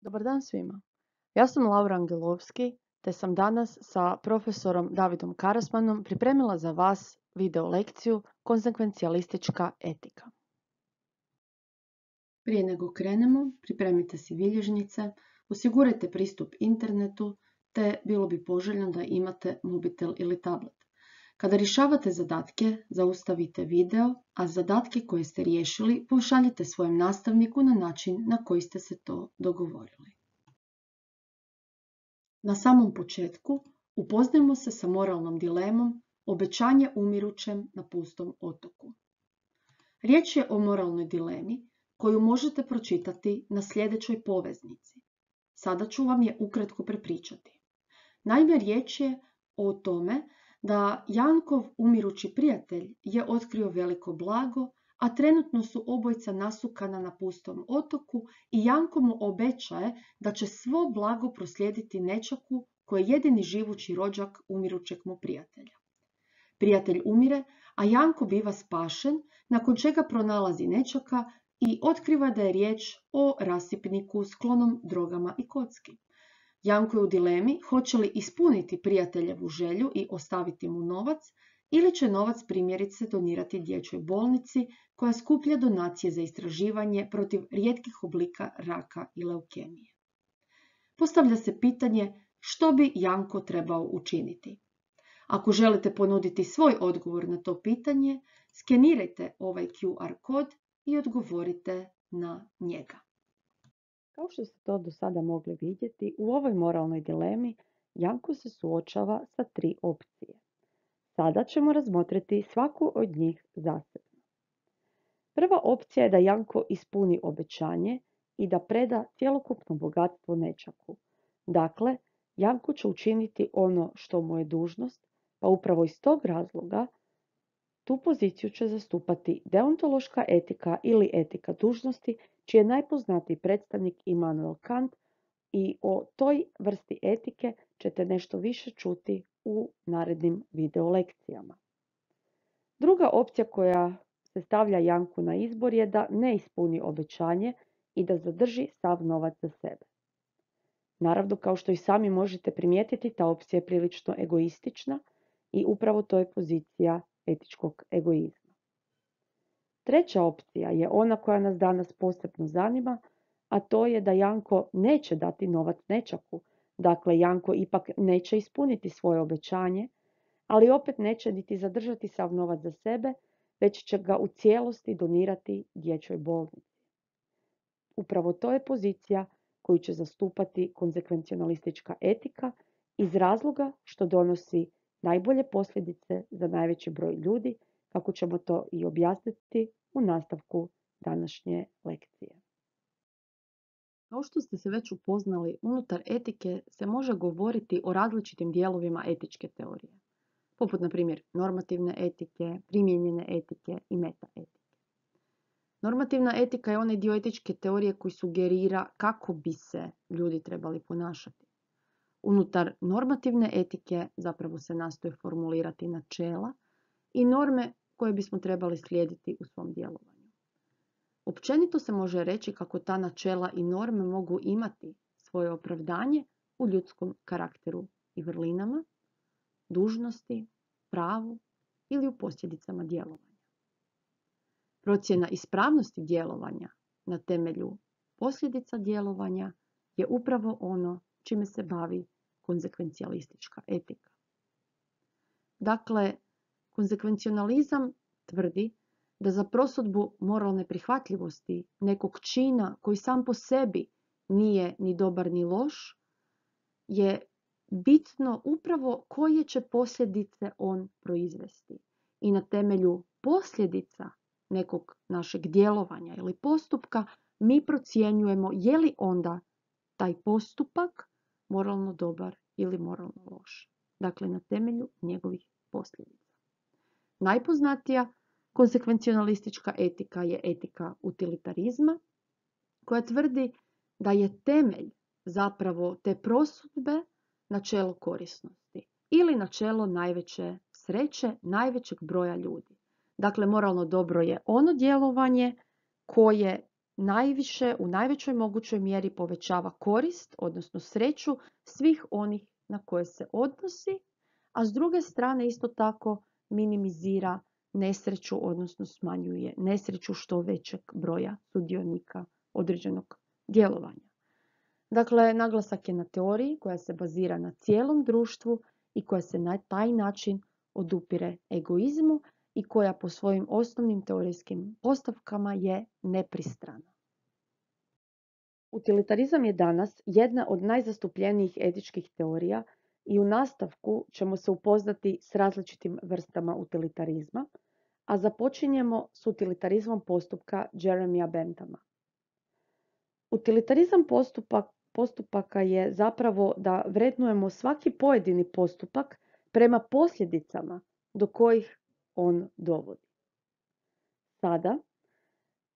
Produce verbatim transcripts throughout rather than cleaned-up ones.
Dobar dan svima. Ja sam Laura Angelovski, te sam danas sa profesorom Davidom Karasmanom pripremila za vas video lekciju Konsekvencijalistička etika. Prije nego krenemo, pripremite si bilježnice, osigurajte pristup internetu, te bilo bi poželjno da imate mobitel ili tablet. Kada rješavate zadatke, zaustavite video, a zadatke koje ste riješili pošaljite svojem nastavniku na način na koji ste se to dogovorili. Na samom početku upoznajmo se sa moralnom dilemom obećanje umirućem na pustom otoku. Riječ je o moralnoj dilemi koju možete pročitati na sljedećoj poveznici. Sada ću vam je ukratko prepričati. Naime, riječ je o tome da Jankov umirući prijatelj je otkrio veliko blago, a trenutno su obojica nasukana na pustom otoku i Janko mu obećaje da će svo blago proslijediti nećaku koji je jedini živući rođak umirućeg mu prijatelja. Prijatelj umire, a Janko biva spašen, nakon čega pronalazi nećaka i otkriva da je riječ o rasipniku sklonom drogama i kocki. Janko je u dilemi hoće li ispuniti prijateljevu želju i ostaviti mu novac, ili će novac primjerice donirati dječjoj bolnici koja skuplja donacije za istraživanje protiv rijetkih oblika raka i leukemije. Postavlja se pitanje što bi Janko trebao učiniti. Ako želite ponuditi svoj odgovor na to pitanje, skenirajte ovaj Q R kod i odgovorite na njega. Kao što ste to do sada mogli vidjeti, u ovoj moralnoj dilemi Janko se suočava sa tri opcije. Sada ćemo razmotriti svaku od njih zasebno. Prva opcija je da Janko ispuni obećanje i da preda cjelokupno bogatstvo nećaku. Dakle, Janko će učiniti ono što mu je dužnost, pa upravo iz tog razloga tu poziciju će zastupati deontološka etika ili etika dužnosti, čiji je najpoznatiji predstavnik Immanuel Kant, i o toj vrsti etike ćete nešto više čuti u narednim video lekcijama. Druga opcija koja se stavlja Janku na izbor je da ne ispuni obećanje i da zadrži sav novac za sebe. Naravno, kao što i sami možete primijetiti, ta opcija je prilično egoistična i upravo to je pozicija etičkog egoizma. Treća opcija je ona koja nas danas posebno zanima, a to je da Janko neće dati novac nećaku. Dakle, Janko ipak neće ispuniti svoje obećanje, ali opet neće niti zadržati sav novac za sebe, već će ga u cijelosti donirati dječjoj bolnici. Upravo to je pozicija koju će zastupati konsekvencionalistička etika iz razloga što donosi najbolje posljedice za najveći broj ljudi, kako ćemo to i objasniti u nastavku današnje lekcije. Kao što ste se već upoznali, unutar etike se može govoriti o različitim dijelovima etičke teorije, poput na primjer normativne etike, primijenjene etike i metaetike. Normativna etika je onaj dio etičke teorije koji sugerira kako bi se ljudi trebali ponašati. Unutar normativne etike zapravo se nastoje formulirati načela i norme koje bismo trebali slijediti u svom djelovanju. Općenito se može reći kako ta načela i norme mogu imati svoje opravdanje u ljudskom karakteru i vrlinama, dužnosti, pravu ili u posljedicama djelovanja. Procjena ispravnosti djelovanja na temelju posljedica djelovanja je upravo ono čime se bavi konsekvencijalistička etika. Dakle, konsekvencionalizam tvrdi da za prosudbu moralne prihvatljivosti nekog čina koji sam po sebi nije ni dobar ni loš, je bitno upravo koje će posljedice on proizvesti. I na temelju posljedica nekog našeg djelovanja ili postupka mi procjenjujemo je li onda taj postupak moralno dobar ili moralno loš. Dakle, na temelju njegovih posljedica. Najpoznatija konsekvencionalistička etika je etika utilitarizma, koja tvrdi da je temelj zapravo te prosudbe načelo korisnosti ili načelo najveće sreće najvećeg broja ljudi. Dakle, moralno dobro je ono djelovanje koje najviše, u najvećoj mogućoj mjeri povećava korist, odnosno sreću svih onih na koje se odnosi, a s druge strane isto tako minimizira nesreću, odnosno smanjuje nesreću što većeg broja sudionika određenog djelovanja. Dakle, naglasak je na teoriji koja se bazira na cijelom društvu i koja se na taj način odupire egoizmu i koja po svojim osnovnim teorijskim postavkama je nepristrana. Utilitarizam je danas jedna od najzastupljenijih etičkih teorija i u nastavku ćemo se upoznati s različitim vrstama utilitarizma, a započinjemo s utilitarizmom postupka Jeremija Benthama. Utilitarizam postupak, postupaka je zapravo da vrednujemo svaki pojedini postupak prema posljedicama do kojih on dovodi. Sada,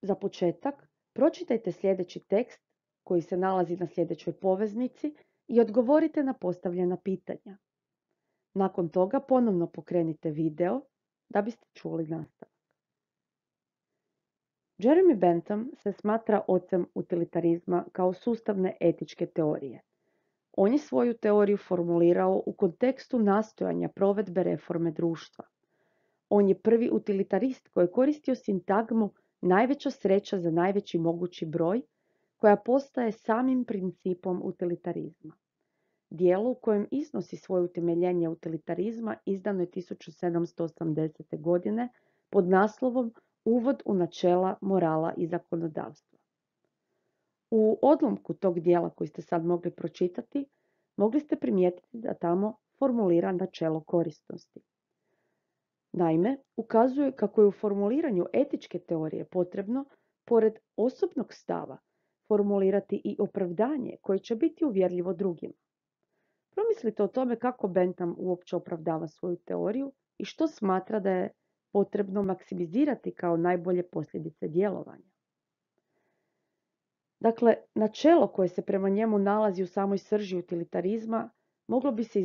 za početak, pročitajte sljedeći tekst koji se nalazi na sljedećoj poveznici i odgovorite na postavljena pitanja. Nakon toga ponovno pokrenite video da biste čuli nastavak. Jeremy Bentham se smatra ocem utilitarizma kao sustavne etičke teorije. On je svoju teoriju formulirao u kontekstu nastojanja provedbe reforme društva. On je prvi utilitarist koji je koristio sintagmu najveća sreća za najveći mogući broj, koja postaje samim principom utilitarizma. Dijelo u kojem iznosi svoje utemeljenje utilitarizma izdano je tisuću sedamsto osamdesete. godine pod naslovom Uvod u načela morala i zakonodavstva. U odlomku tog dijela koji ste sad mogli pročitati, mogli ste primijetiti da tamo formulira načelo korisnosti. Naime, ukazuje kako je u formuliranju etičke teorije potrebno, pored osobnog stava, formulirati i opravdanje koje će biti uvjerljivo drugima. Promislite o tome kako Bentham uopće opravdava svoju teoriju i što smatra da je potrebno maksimizirati kao najbolje posljedice djelovanja. Dakle, načelo koje se prema njemu nalazi u samoj srži utilitarizma moglo bi se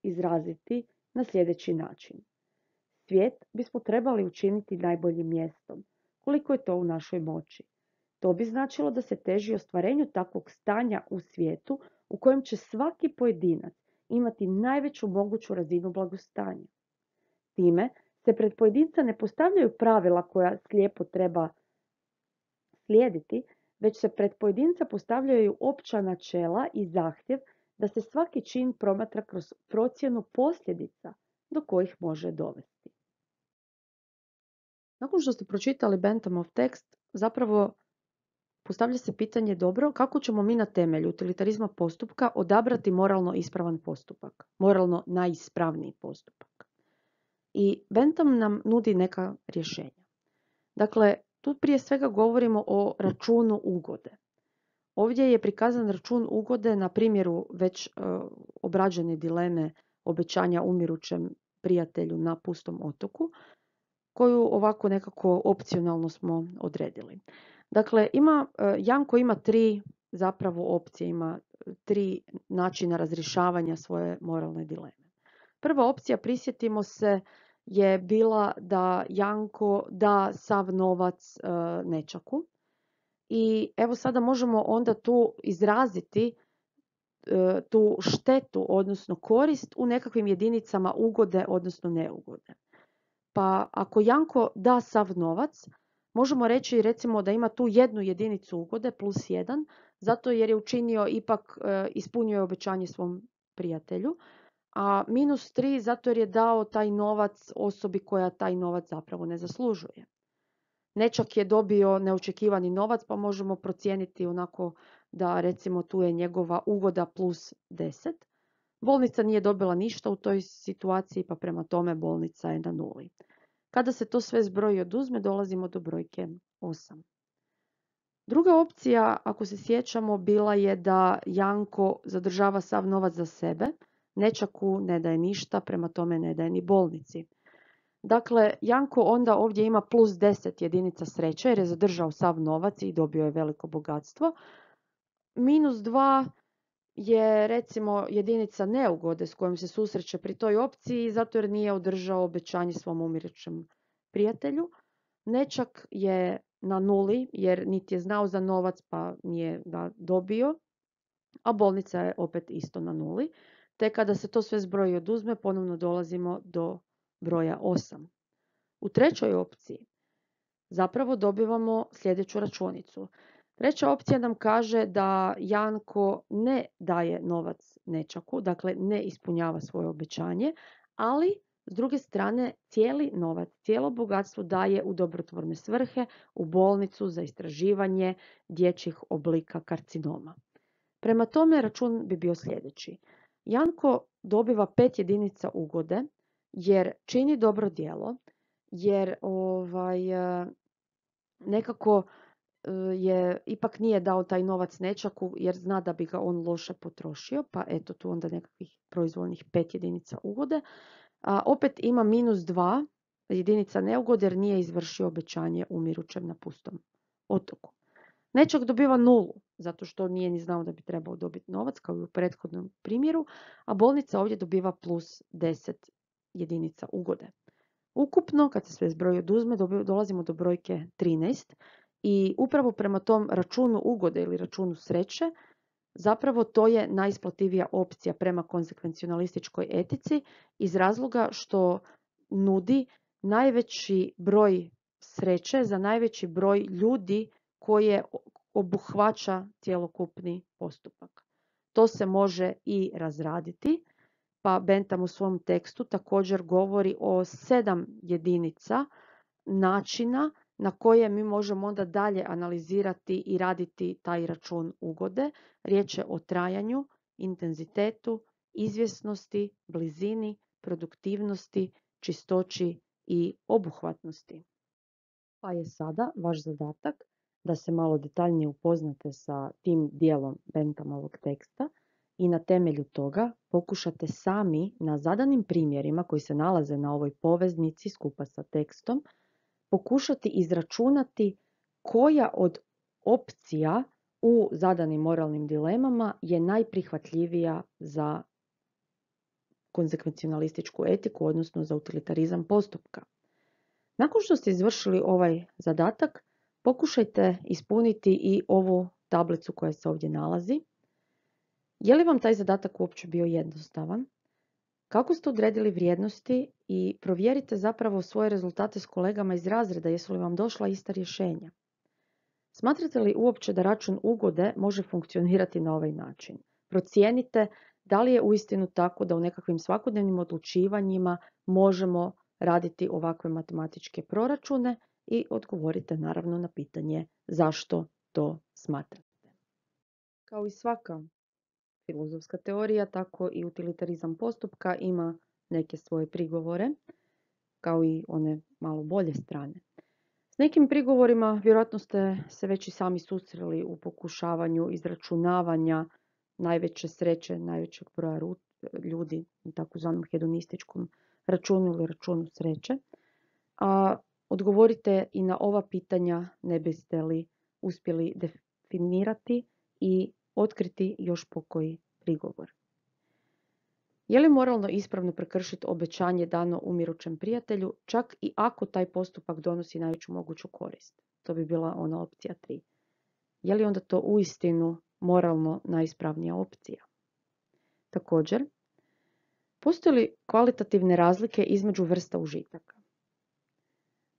izraziti na sljedeći način. Svijet bismo trebali učiniti najboljim mjestom, koliko je to u našoj moći. To bi značilo da se teži ostvarenju takvog stanja u svijetu u kojem će svaki pojedinac imati najveću moguću razinu blagostanja. Time se pred pojedinca ne postavljaju pravila koja slijepo treba slijediti, već se pred pojedinca postavljaju opća načela i zahtjev da se svaki čin promatra kroz procjenu posljedica do kojih može dovesti. Nakon što ste pročitali Benthamov tekst, zapravo postavlja se pitanje dobro kako ćemo mi na temelju utilitarizma postupka odabrati moralno ispravan postupak, moralno najispravniji postupak. I Bentham nam nudi neka rješenja. Dakle, tu prije svega govorimo o računu ugode. Ovdje je prikazan račun ugode na primjeru već uh, obrađene dileme obećanja umirućem prijatelju na pustom otoku, koju ovako nekako opcionalno smo odredili. Dakle, ima, uh, Janko ima tri zapravo opcije, ima tri načina razrješavanja svoje moralne dileme. Prva opcija, prisjetimo se, je bila da Janko da sav novac uh, nećaku. I evo sada možemo onda tu izraziti uh, tu štetu, odnosno korist u nekakvim jedinicama ugode, odnosno neugode. Pa ako Janko da sav novac, možemo reći recimo da ima tu jednu jedinicu ugode plus jedan, zato jer je učinio ipak, uh, ispunio je obećanje svom prijatelju, a minus tri zato jer je dao taj novac osobi koja taj novac zapravo ne zaslužuje. Nečak je dobio neočekivani novac, pa možemo procijeniti onako da recimo tu je njegova ugoda plus deset. Bolnica nije dobila ništa u toj situaciji, pa prema tome bolnica je na nuli. Kada se to sve zbroji i oduzme, dolazimo do brojke osam. Druga opcija, ako se sjećamo, bila je da Janko zadržava sav novac za sebe, nečaku ne daje ništa, prema tome ne daje ni bolnici. Dakle, Janko onda ovdje ima plus deset jedinica sreće jer je zadržao sav novac i dobio je veliko bogatstvo. Minus dva je recimo jedinica neugode s kojom se susreće pri toj opciji zato jer nije održao obećanje svom umirućem prijatelju. Nečak je na nuli jer niti je znao za novac pa nije ga dobio, a bolnica je opet isto na nuli. Te kada se to sve zbroji i oduzme, ponovno dolazimo do broja osam. U trećoj opciji zapravo dobivamo sljedeću računicu. Treća opcija nam kaže da Janko ne daje novac nećaku, dakle ne ispunjava svoje obećanje, ali s druge strane cijeli novac, cijelo bogatstvo daje u dobrotvorne svrhe, u bolnicu za istraživanje dječjih oblika karcinoma. Prema tome račun bi bio sljedeći. Janko dobiva pet jedinica ugode jer čini dobro djelo, jer ovaj, nekako je ipak nije dao taj novac nećaku jer zna da bi ga on loše potrošio, pa eto tu onda nekakvih proizvoljnih pet jedinica ugode. A opet ima minus dva jedinica neugode jer nije izvršio obećanje umirućem na pustom otoku. Nećak dobiva nulu, zato što nije ni znao da bi trebao dobiti novac, kao i u prethodnom primjeru, a bolnica ovdje dobiva plus deset jedinica ugode. Ukupno, kad se sve zbroji oduzme, dolazimo do brojke trinaest i upravo prema tom računu ugode ili računu sreće, zapravo to je najisplativija opcija prema konsekvencionalističkoj etici iz razloga što nudi najveći broj sreće za najveći broj ljudi koje obuhvaća cjelokupni postupak. To se može i razraditi, pa Bentham u svom tekstu također govori o sedam jedinica načina na koje mi možemo onda dalje analizirati i raditi taj račun ugode. Riječ je o trajanju, intenzitetu, izvjesnosti, blizini, produktivnosti, čistoći i obuhvatnosti. Pa je sada vaš zadatak da se malo detaljnije upoznate sa tim dijelom Benthamovog teksta i na temelju toga pokušate sami na zadanim primjerima koji se nalaze na ovoj poveznici skupa sa tekstom pokušati izračunati koja od opcija u zadanim moralnim dilemama je najprihvatljivija za konsekvencionalističku etiku, odnosno za utilitarizam postupka. Nakon što ste izvršili ovaj zadatak, pokušajte ispuniti i ovu tablicu koja se ovdje nalazi. Je li vam taj zadatak uopće bio jednostavan? Kako ste odredili vrijednosti i provjerite zapravo svoje rezultate s kolegama iz razreda, jesu li vam došla ista rješenja? Smatrate li uopće da račun ugode može funkcionirati na ovaj način? Procijenite da li je uistinu tako da u nekakvim svakodnevnim odlučivanjima možemo raditi ovakve matematičke proračune i odgovorite naravno na pitanje zašto to smatrate. Kao i svaka filozofska teorija, tako i utilitarizam postupka ima neke svoje prigovore, kao i one malo bolje strane. S nekim prigovorima vjerojatno ste se već i sami susreli u pokušavanju izračunavanja najveće sreće, najvećeg broja ljudi u takozvanom hedonističkom računu ili računu sreće. A odgovorite i na ova pitanja ne biste li uspjeli definirati i otkriti još pokoji prigovor. Je li moralno ispravno prekršiti obećanje dano umirućem prijatelju, čak i ako taj postupak donosi najveću moguću korist? To bi bila ona opcija tri. Je li onda to uistinu moralno najispravnija opcija? Također, postoje li kvalitativne razlike između vrsta užitaka?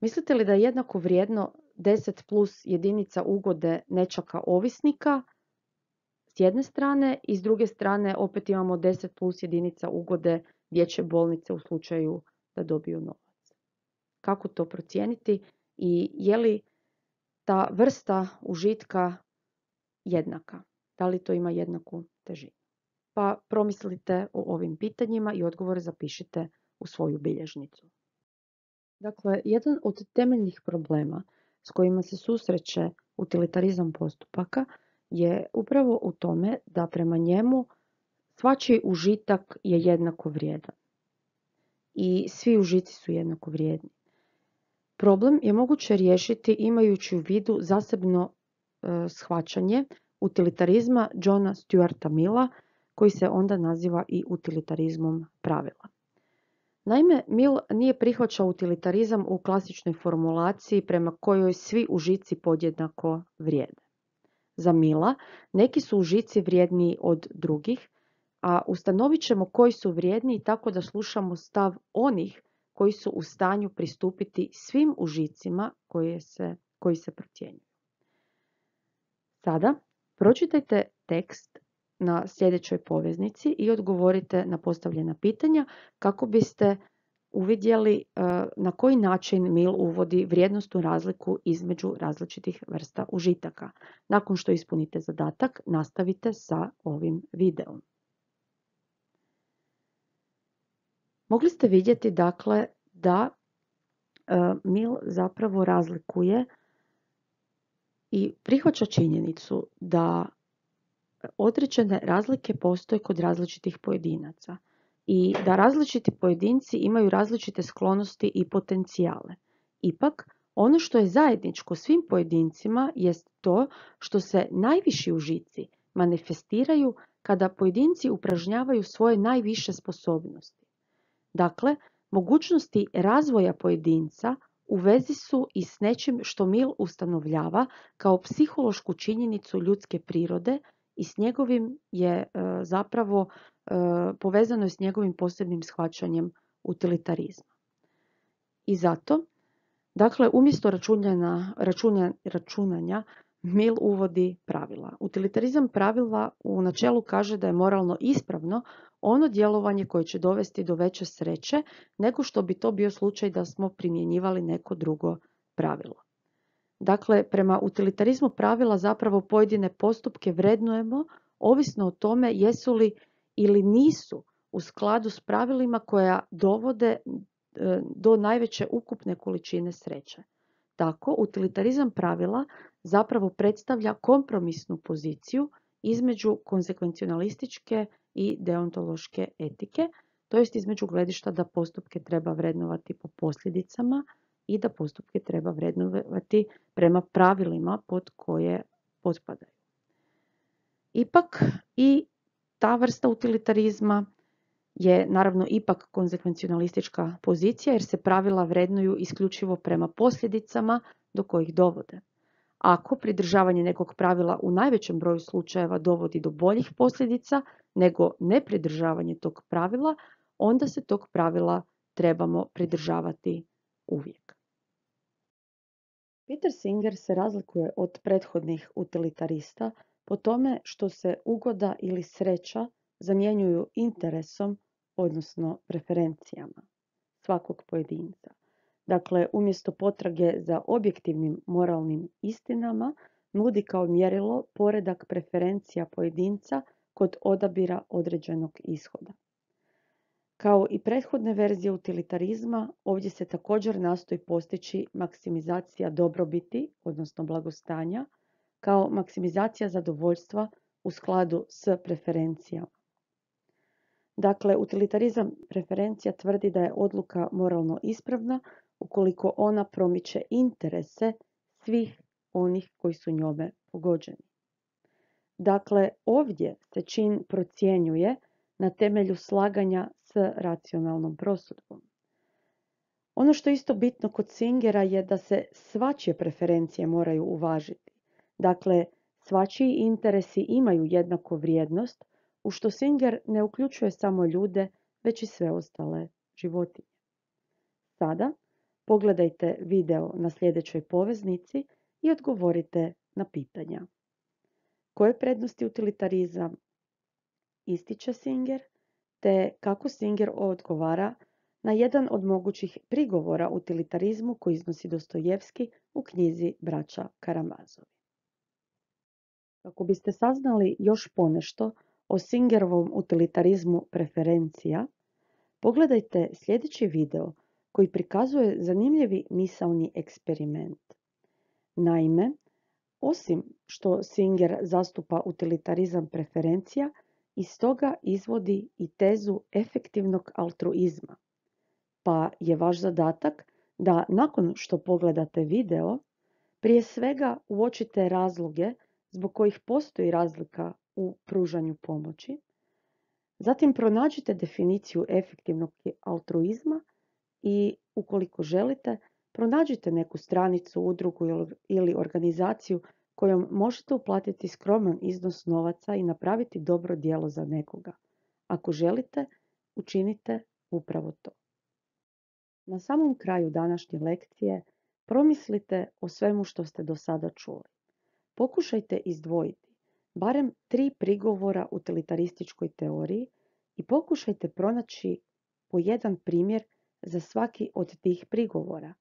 Mislite li da je jednako vrijedno deset plus jedinica ugode nečaka ovisnika s jedne strane i s druge strane opet imamo deset plus jedinica ugode dječje bolnice u slučaju da dobiju novac? Kako to procijeniti i je li ta vrsta užitka jednaka? Da li to ima jednaku težinu? Pa promislite o ovim pitanjima i odgovore zapišite u svoju bilježnicu. Dakle, jedan od temeljnih problema s kojima se susreće utilitarizam postupaka je upravo u tome da prema njemu svačiji užitak je jednako vrijedan. I svi užici su jednako vrijedni. Problem je moguće riješiti imajući u vidu zasebno e, shvaćanje utilitarizma Johna Stuarta Milla, koji se onda naziva i utilitarizmom pravila. Naime, Mill nije prihvaćao utilitarizam u klasičnoj formulaciji prema kojoj svi užici podjednako vrijede. Za Milla neki su užici vrijedniji od drugih, a ustanovit ćemo koji su vrijedniji tako da slušamo stav onih koji su u stanju pristupiti svim užicima koji se, koji se procjenjuju. Sada pročitajte tekst na sljedećoj poveznici i odgovorite na postavljena pitanja kako biste uvidjeli na koji način Mill uvodi vrijednosnu razliku između različitih vrsta užitaka. Nakon što ispunite zadatak, nastavite sa ovim videom. Mogli ste vidjeti dakle da Mill zapravo razlikuje i prihvaća činjenicu da određene razlike postoje kod različitih pojedinaca i da različiti pojedinci imaju različite sklonosti i potencijale. Ipak, ono što je zajedničko svim pojedincima jest to što se najviši užici manifestiraju kada pojedinci upražnjavaju svoje najviše sposobnosti. Dakle, mogućnosti razvoja pojedinca u vezi su i s nečim što Mill ustanovljava kao psihološku činjenicu ljudske prirode i s njegovim je e, zapravo e, povezano je s njegovim posebnim shvaćanjem utilitarizma. I zato, dakle, umjesto računanja, računja, računanja Mill uvodi pravila. Utilitarizam pravila u načelu kaže da je moralno ispravno ono djelovanje koje će dovesti do veće sreće nego što bi to bio slučaj da smo primjenjivali neko drugo pravilo. Dakle, prema utilitarizmu pravila zapravo pojedine postupke vrednujemo ovisno o tome jesu li ili nisu u skladu s pravilima koja dovode do najveće ukupne količine sreće. Tako, utilitarizam pravila zapravo predstavlja kompromisnu poziciju između konsekvencionalističke i deontološke etike, to jest između gledišta da postupke treba vrednovati po posljedicama i da postupke treba vrednovati prema pravilima pod koje potpadaju. Ipak i ta vrsta utilitarizma je naravno ipak konsekvencionalistička pozicija jer se pravila vrednuju isključivo prema posljedicama do kojih dovode. Ako pridržavanje nekog pravila u najvećem broju slučajeva dovodi do boljih posljedica nego nepridržavanje tog pravila, onda se tog pravila trebamo pridržavati uvijek. Peter Singer se razlikuje od prethodnih utilitarista po tome što se ugoda ili sreća zamjenjuju interesom, odnosno preferencijama svakog pojedinca. Dakle, umjesto potrage za objektivnim moralnim istinama, nudi kao mjerilo poredak preferencija pojedinca kod odabira određenog ishoda. Kao i prethodne verzije utilitarizma, ovdje se također nastoji postići maksimizacija dobrobiti, odnosno blagostanja, kao maksimizacija zadovoljstva u skladu s preferencijama. Dakle, utilitarizam preferencija tvrdi da je odluka moralno ispravna ukoliko ona promiče interese svih onih koji su njome pogođeni. Dakle, ovdje se čin procjenjuje na temelju slaganja s racionalnom prosudbom. Ono što je isto bitno kod Singera je da se svačije preferencije moraju uvažiti. Dakle, svačiji interesi imaju jednaku vrijednost, u što Singer ne uključuje samo ljude, već i sve ostale životinje. Sada pogledajte video na sljedećoj poveznici i odgovorite na pitanja. Koje prednosti utilitarizam ističe Singer, te kako Singer odgovara na jedan od mogućih prigovora utilitarizmu koji iznosi Dostojevski u knjizi Braća Karamazovi. Kako biste saznali još ponešto o Singerovom utilitarizmu preferencija, pogledajte sljedeći video koji prikazuje zanimljivi misaoni eksperiment. Naime, osim što Singer zastupa utilitarizam preferencija, iz toga izvodi i tezu efektivnog altruizma. Pa je vaš zadatak da nakon što pogledate video, prije svega uočite razloge zbog kojih postoji razlika u pružanju pomoći, Zatim pronađite definiciju efektivnog altruizma i ukoliko želite, pronađite neku stranicu, udrugu ili organizaciju kojom možete uplatiti skroman iznos novaca i napraviti dobro djelo za nekoga. Ako želite, učinite upravo to. Na samom kraju današnje lekcije promislite o svemu što ste do sada čuli. Pokušajte izdvojiti barem tri prigovora utilitarističkoj teoriji i pokušajte pronaći po jedan primjer za svaki od tih prigovora.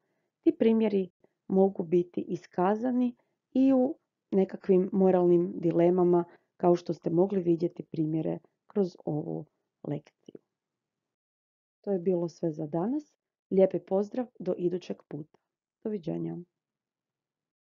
Ti primjeri mogu biti iskazani i u nekakvim moralnim dilemama, kao što ste mogli vidjeti primjere kroz ovu lekciju. To je bilo sve za danas. Lijepi pozdrav do idućeg puta. Doviđenja.